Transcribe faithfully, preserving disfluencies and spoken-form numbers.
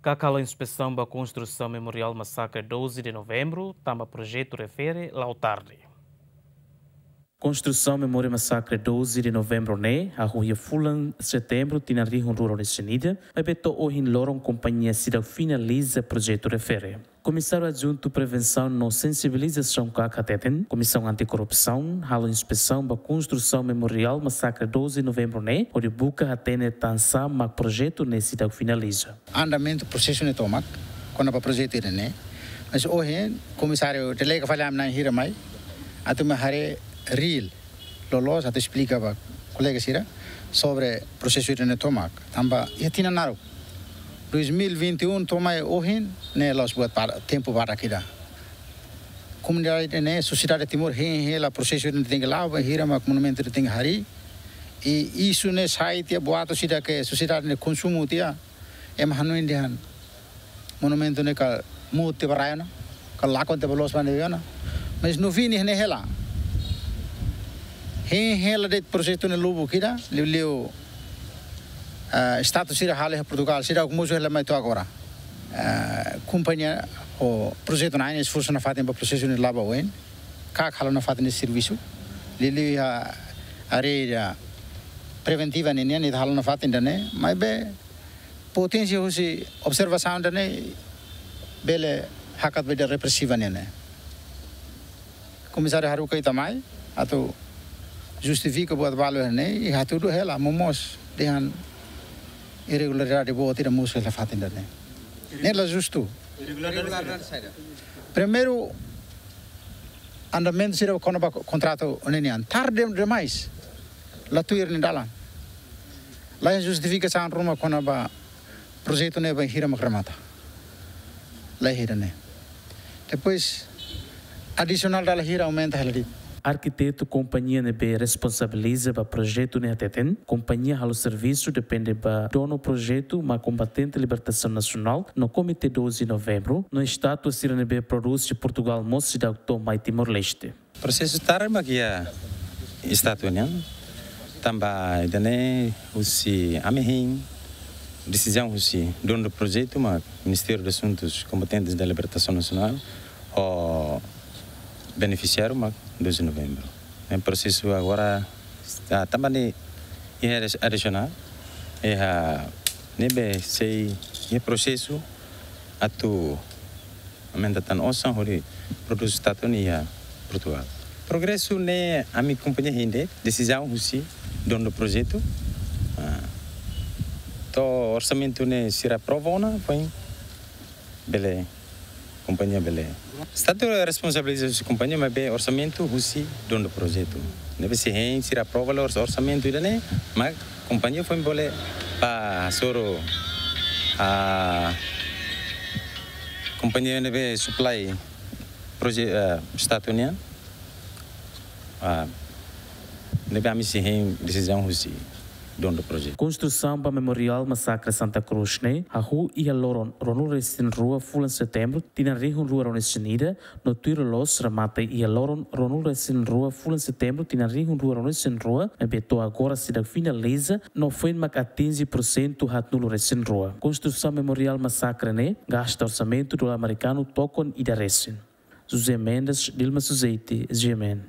KAK halo inspesaun ba konstrusaun Memoriál Masakre doze de Novembru, tanba projetu refere la'o tarde. Konstrusaun Memoriál Masakre doze de Novembru ne'e hahú iha fulan Setembru tinan rihun rua ruanulu-resin-ida, maibé to'o ohin loron kompañia seidauk finaliza projetu refere. Komisáriu Adjuntu Prevensaun no Sensibilizasaun KAK hateten, Komisaun Anti-Korrupsaun halo inspesaun ba konstrusaun Memoriál Masakre doze de Novembru ne'e, hodi buka hatene tansá mak projetu ne'e seidauk finaliza. Andamentu prosesu ne'e tomak, kona-ba projetu ida-ne'e. Mas ohin, komisáriu delega fali ami-na'in hira mai, atu mai haree reál loloos atu esplika ba kolega sira sobre prosesu ida-ne'e tomak. Tanba iha tinan naruk, dois mil e vinte e um to'o mai ohin ne'e la'ós buat para, tempu badak ida. Komunidade ne'e, sosiedade Timor hein hela prosesu ida-ne'e tenke la'o, bainhira mak monumentu ida-ne'e tenke harii. I isu ne'e sai tiha boato sira ke sosiedade ne'e konsumu tiha, ema hanoin dehan monumentu ne'e kala muut tiha ba rai ona, kala lakon tiha ba loos ba ne'ebé ona. Mas no fim ne'e hela. Hein hela de'it projetu ne'e lubuk ida, liuliu, ah, status sira halo iha Portugal, sira mosu hela mai to'o agora. Ah, kompañia ho projetu na'in esforsu nafatin ba prosesu ne'e la'o ba oin. KAK halo nafatin nia servisu. Liuliu iha área preventiva ne'e nian, ita halo nafatin ida-ne'e, maibé poténsia husi observasaun ida-ne'e bele hakat ba ida represiva nian ne'e. Komisáriu haruka ita mai atu justifika buat balu ne'e, i hatudu hela, momoos dehan irregularidade boot ida mosu iha fatin ida-ne'e. Ne'e la justu. Primeiru, andamentu sira kona-ba kontratu ne'e nian tarde demais. La tuir nia dalan. La iha justifikasaun ruma kona-ba projetu ne'e bainhira mak remata. La iha ida-ne'e. Depois, adisionál dala hira aumenta hela de'it. Arkitetu kompañia ne'ebé responsabiliza ba projetu ne'e hateten, kompañia halo servisu depende ba donu projetu mak Kombatente Libertasaun Nasionál no Komité doze de Novembru, no estátua sira ne'ebé prodús iha Portugal mós seidauk to'o mai Timor-Leste. Prosesu tarde mak iha estátua nian, tanba ida-ne'e husi ami hein, desizaun husi donu projetu mak Ministériu de Asuntus Kombatentes da Libertasaun Nasionál, ho benefisiáriu mak doze de Novembru. Ne'e prosesu agora, ah, tanba ne'e iha adi-, adisionál, iha ne'ebé sei iha prosesu atu aumenta tan osan hodi prodús estátua ne'e iha Portugal. Progresu ne'e ami kompañia hein de'it, desizaun husi donu projetu. Ah, to'o orsamentu ne'e sira aprova ona, foin bele, kompañia bele. Estátua responsabiliza husi kompañia, maibé orsamentu husi donu projetu. Ne'ebé sei hein sira aprova ors-, orsamentu ida-ne'e, mak kompañia foin bele ba soro, ah, kompañia ne'ebé supply proje-, ah, estátua nian. Ah, ne'ebé ami sei hein desizaun husi donu projetu. Konstrusaun ba Memoriál Masakre Santa Cruz ne'e hahú iha loron ruanulu-resin-rua fulan Setembru tinan rihun rua ruanulu-resin-ida, no tuir loloos remata iha loron ruanulu-resin-rua fulan Setembru tinan rihun rua ruanulu-resin-rua, maibé to'o agora seidauk finaliza, no foin mak atinje pursentu haatnulu-resin-rua. Konstrusaun Memoriál Masakre ne'e gasta orsamentu dolar amerikanu tokon ida resin. José Mendes, Dilma Suzeti, G M N.